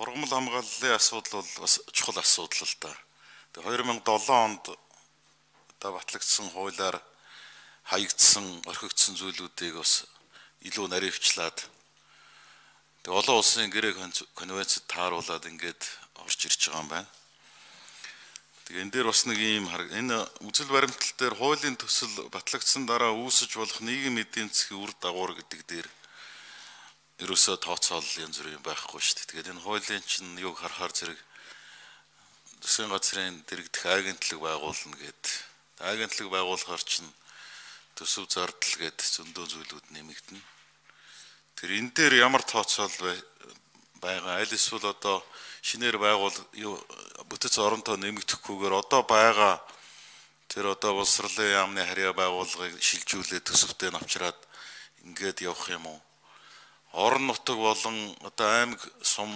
Ургамал хамгааллын асуудал бол бас чухал асуудал л да. Тэгээ 2007 онд одоо батлагдсан хуулиар хаягдсан, орхигдсон зүйлүүдийг бас илүү наривчлаад тэгээ олон улсын гэрээ конвенцэд тааруулаад ингээд орж ирж байгаа юм байна. Тэгээ энэ дээр бас нэг ийм энэ үзэл баримтал дээр хуулийн төсөл батлагдсан дараа үүсэж болох нийгмийн эдийн засгийн үр дагавар гэдэг дээр ерөөсөө тооцоол янз бүрийн байхгүй шүү дээ. Тэгээд энэ хуулийн чинь юг харахаар зэрэг засгийн газрын дэрэгдэх агентлаг байгуулна гэд. Агентлаг байгуулахаар чинь төсөв зардал гэд зөндөө зүйлүүд нэмэгдэнэ. Тэр энэ дээр ямар тооцоол байгаа? Аль эсвэл одоо шинээр бүтэц оронтой нэмэгдэхгүйгээр одоо байгаа тэр одоо боловсролын яамны харьяа байгууллагыг шилжүүлээд төсөвтэй навчраад ингээд явах юм уу? Орон нутаг болон одоо аймаг сум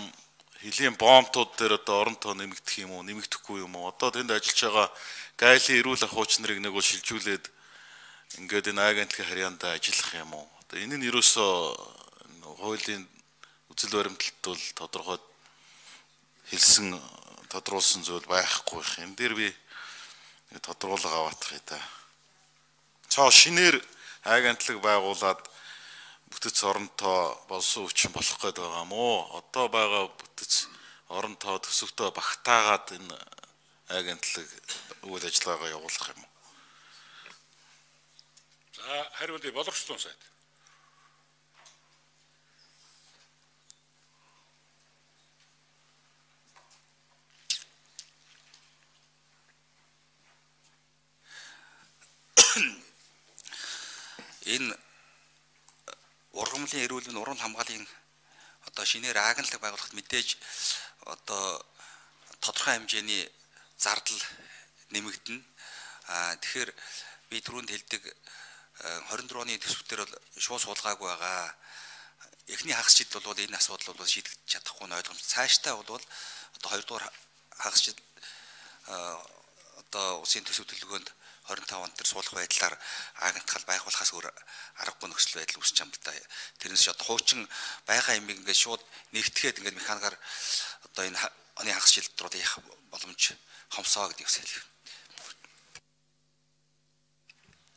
хөлийн бомбтууд дээр одоо оронтой нэмэгдэх юм уу, нэмэгдэхгүй юм уу? Одоо тэнд ажиллаж байгаа гайлын эрүүл ахуйч нарыг нэг шилжүүлээд ингээд энэ агентлагийн харьяанд ажиллах юм уу? Одоо энэ нь ерөөсөө хуулийн үзэл баримталд бол тодорхой хэлсэн тодруулсан зүйл байхгүй их. Энэ дээр би тодруулга аваадах юм да. Цоо шинээр агентлаг байгуулад бүтэц оронтой болсон өвчин болох гээд байгаа юм уу? Одоо байгаа бүтэц оронтой төсөвтөө багтаагаад энэ агентлаг үйл ажиллагаагаа явуулах юм уу? За хариулъя боловсролын сайд. Энэ ургамлын эрүүл уран хамгааллын одоо шинээр агентлаг байгуулахад мэдээж одоо тодорхой хэмжээний зардал нэмэгдэнэ. Тэгэхээр би түрүүнд хэлдэг 24 оны төсөвтөр бол шууд суулгаагүй байгаа. Эхний хагас жил бол энэ асуудал бол шийдэгдэж чадахгүй нь ойлгомжтой. Цаашдаа бол одоо 2 дугаар хагас жил одоо улсын төсөв төлөвлөгөөнд 25 онд тэр суулгах байдлаар агентхал байгуулахаас өөр аргагүй нөхцөл байдал үүсч юм л да. Тэрнээс одоо хуучин байгаа юм ингээд шууд нэгтгэхэд ингээд механикаар одоо энэ оны хагас жилд руу явах боломж хомсоо гэдэг үсэл.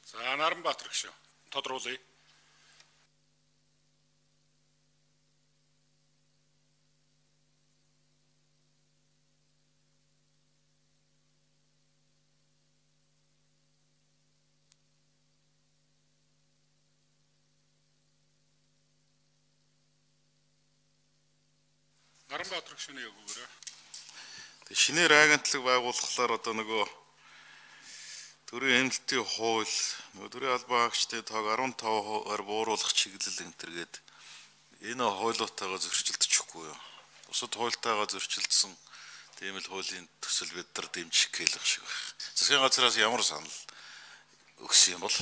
За Наранбаатар гişүү тодруулъя. Наранбаатар гişүүний яг үгээрээ. Тэг шинээр агентлаг байгуулахлаар одоо нөгөө төрийн эмнэлтийн хууль, нөгөө төрийн албан хаагчдын тоог 15%-аар бууруулах чиглэл энэ төргээд энэ хуулиутайгаа зөрчилдөхгүй юу? Бусад хуультайгаа зөрчилдсөн тийм л хуулийн төсөл бид нар дэмжих гэлэх шиг байна. Засгийн газраас ямар санал өгсөн юм бол?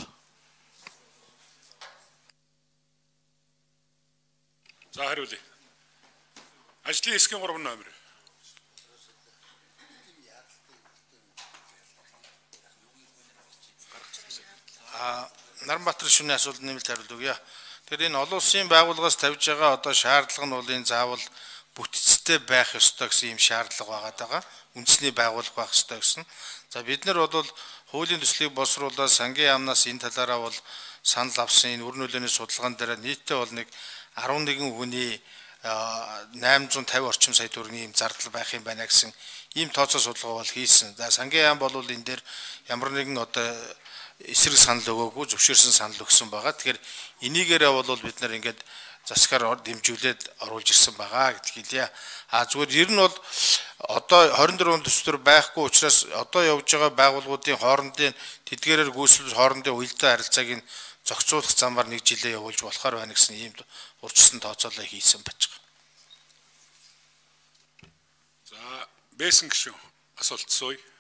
За хариулъя. Ажлын хэсгийн 3 номер. Наранбаатар шүний асуулт нэмэлт хариулт өгье. Тэгэхээр энэ олон улсын байгууллагаас тавьж байгаа одоо шаардлага нь бол энэ заавал бүтцтэй байх ёстой гэсэн юм шаардлага байгаа. Үндэсний байгууллага байх ёстой гэсэн. За бид нар бол хуулийн төслийг боловсруулаад сангийн яамнаас энэ талаараа бол санал авсан энэ үр нөлөөний судалгаан дээр нийтдээ бол нэг 11 хүний 850 орчим сая төгрөгийн ийм зардал байх юм байна гэсэн ийм тооцоо судалгаа бол хийсэн. За сангийн яам бол энэ дээр ямар нэгэн одоо эсрэг санал өгөөгүй зөвшөөрсөн санал өгсөн байгаа. Тэгэхээр энийгээрээ бол бид нар ингээд засгаар дэмжүүлээд оруулж ирсэн байгаа гэдэг хэлье. Зүгээр ер нь бол одоо 24 он төсвөр байхгүй учраас одоо явж байгаа байгууллагуудын хоорондын тэдгээрээр гүйцэлж хоорондын уялдаа харилцааг нь зохицуулах замаар нэг жилээ явуулж болохоор байна гэсэн ийм урьдчилан тооцоолоо хийсэн байж байгаа. За Бэсэн гişүү асуулт сууя.